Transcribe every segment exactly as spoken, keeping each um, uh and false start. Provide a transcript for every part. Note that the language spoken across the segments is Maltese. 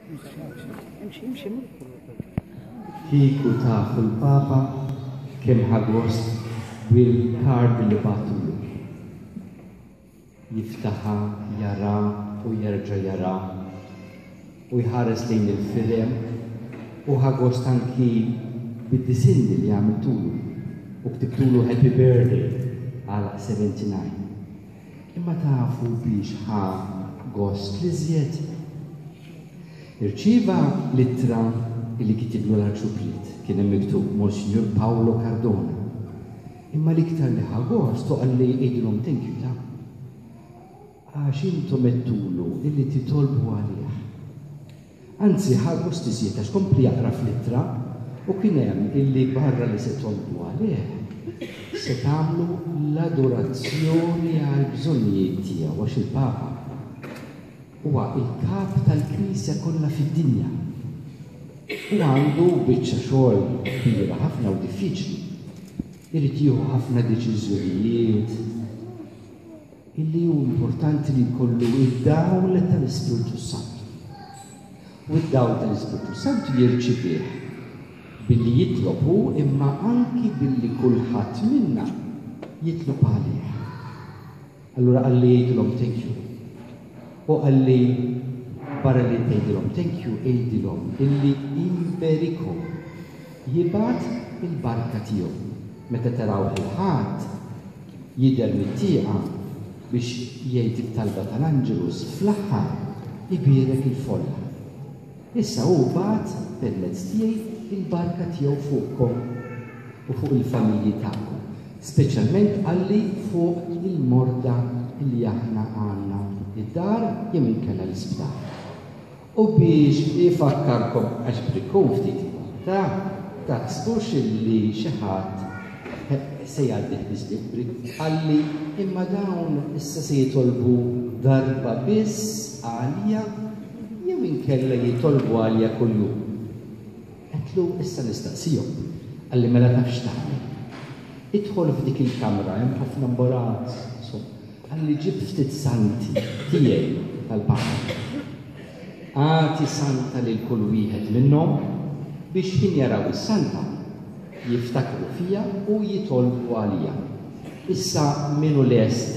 Imxi, imxi. Kieku tafu l-Papa kemm ħa gost bil-card li bgħattulu. Jiftaħha, jara u jerġa' jara u jħares lejn il-firem u ħa gost anki bid-disinni li għamiltulu u ktibtulu "Happy Birthday" għal sebgħa u sebgħin. Imma tafu biex ħa gost l-iżjed? Irċieva l-ittra illi kitiblu l-Arċipriet, kien hemm miktub Monsignor Paolo Cardona. Imma l-iktar li ħa gost u qalli, "Għidilhom thank you ta' għax intom għedtulu illi titolbu għalih." Anzi, ħa gost iżjed għax kompli jaqra fl-ittra u kien hemm illi barra li se tolbu għalih, se tagħmlu l-adorazzjoni għal bżonnijiet tiegħu, għax il-Papa huwa il-kap tal-Knisja kollha fid-dinja. U għandu biċċa xogħol kbira ħafna u diffiċli. Irid jieħu ħafna deċiżjonijiet illi hu importanti li jkollu id-dawl tal-Ispirtu Santu. U id-dawl tal-Ispirtu Santu jirċivih billi jitlob hu, imma anki billi kulħadd minna jitlob għalih. Allura qalli, "Għidilhom thank you." U qalli, "Barra li tgħidilhom thank you, għidilhom illi imberikom, jibgħat il-barka tiegħu." Meta taraw il-Ħadd jidher mit-tieqa biex jgħid it-talba tal-Angelus, fl-aħħar ibierek il-folla. Issa hu bagħat permezz tiegħi il-barka tiegħu fuqkom u fuq il-familji tagħkom. Speċjalment, qalli, fuq il-morda li aħna għandna id-dar jew inkella l-isptar. U biex ifakkarkom, għax brikkun ftit, ta' taħsbux illi xi ħadd se jgħaddi biss bil-brik, qalli, "Imma dawn issa se jitolbu darba biss għalija jew inkella jitolbu għalija kuljum?" Għedtlu, "Issa nistaqsihom." Qalli, "Mela taf x'tagħmel? Idħol f'dik il-kamra, hemm ħafna imbarazz." Qalli, "Ġib ftit santi tiegħi tal-Papa. Agħti santa lil kull wieħed minnhom biex ħin jaraw is-santa jiftakru fija u jitolbu għalija." Issa min hu lest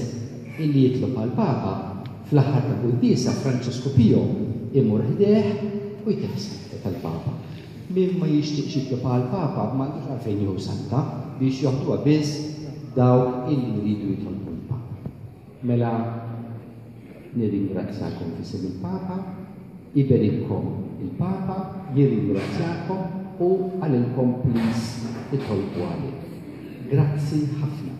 illi jitlob għal-Papa, fl-aħħar ta' quddiesa Francesco Pio imur ħdejh u jtih santa tal-Papa. Min ma jixtieqx jitlob għal-Papa m'għandux għalfejn jieħu santa, biex joħduha biss dawk illi jridu jitolbu l-Papa. Mela nirringrazzjakom f'isem il-Papa, iberikkom il-Papa, jirringrazzjakom u qalilkom please itolbu għalih. Grazzi ħafna.